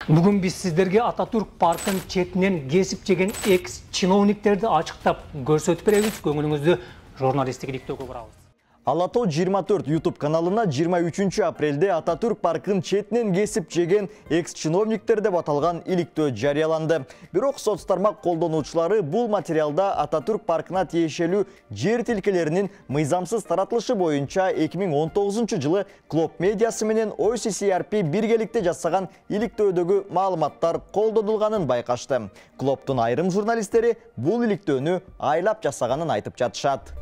Бүгүн биз сиздерге Ататүрк паркын четинен кесип жеген экс-чиновниктерди ачыктап көрсөтүп беребиз. Көңүлүңүздү журналисттик иликтөөгө бурабыз. Алато 24 YouTube каналына 23 апрелде Ататүрк паркын четинен кесип жеген экс-чиновниктер деп аталган иликтөө жарыяланды. Бирок соц тармак колдонуучулары бул материалда Ататүрк паркына тиешелүү жер тилкелеринин мыйзамсыз таратылышы боюнча 2019 жылы Клоп медиасы менен OCCRP биргеликте жасаган иликтөөдөгү маалыматтар колдонулганын байкашты. Клоптун айрым журналисттери бул иликтөөнү айлап жасаганын айтып жатышат.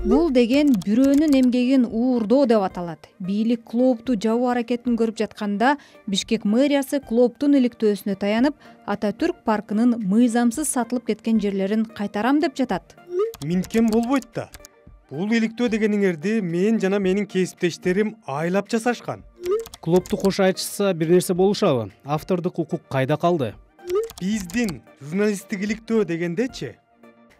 Бул деген бирөөнүн эмгегин уурдоо деп аталат. Бийлик Клопту жабуу аракетин көрүп жатканда Бишкек мэриясы Клоптун иликтөөсүнө таянып, Ататүрк паркынын мыйзамсыз сатылып кеткен жерлерин кайтарам деп жатат. Минткен болбойт да. Бул иликтөө дегениңерди мен жана менин кесиптештерим айлап жасашкан. Клопту кош айтышса бир нерсе болушабы? Автордук укук кайда калды? Биздин журналисттик иликтөө дегендечи?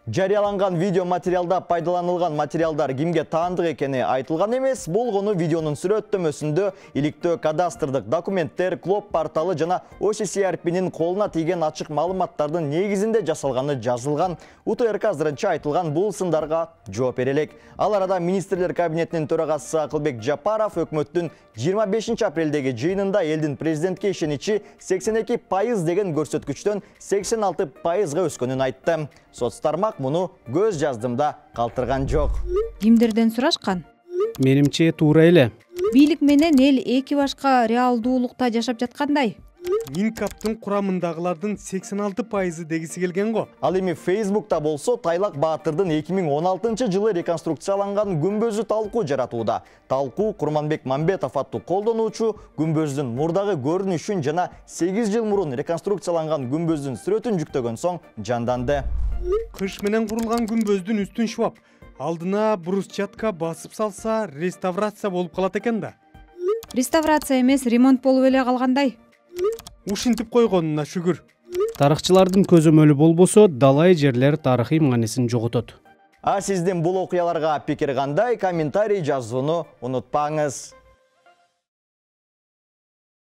Жарыяланган видео материалда пайдаланылган материалдар кимге таандык экени айтылган эмес. Болгону видеонун сүрөттөмөсүндө иликтөө кадастрдык документтер, Клоп порталы жана OCCRP'нин колуна тийген ачык маалыматтардын негизинде жасалганы жазылган. УТРК азырынча айтылган бул сындарга жооп бере элек. Ал арада министрлер кабинетинин төрагасы Акылбек Жапаров өкмөттүн 25 апрелдеги жыйынында элдин президентке ишеничи 82% деген көрсөткүчтөн 86%га өскөнүн айтты. Соц тармак муну көз жаздымда калтырган жок. Кимдерден сурашкан? Менимче туура эле. Бийлик менен эл эки башка реалдуулукта жашап жаткандай. Минкаптын курамындагылардын 86% дегиси келген го. Ал эми Facebook'та болсо Тайлак Баатырдын 2016 жылы реконструкцияланган күмбөзү талкуу жаратууда. Талкуу Курманбек Мамбетов аттуу колдонуучу күмбөздүн мурдагы көрүнүшүн жана 8 жыл мурун реконструкцияланган күмбөздүн сүрөтүн жүктөгөн соң жанданды. Кыш менен курулган күмбөздүн үстүн шуап, алдына брусчатка басып салса реставрация болуп калат экен да. Реставрация эмес, ремонт болуп эле калгандай. Ушинтип койгонуна шүгүр. Тарыхчылардын көзөмөлү болбосо, далай жерлер тарыхый маанисин жоготот. А сиздин бул окуяларга пикир кандай? Комментарий жазууну унутпаңыз.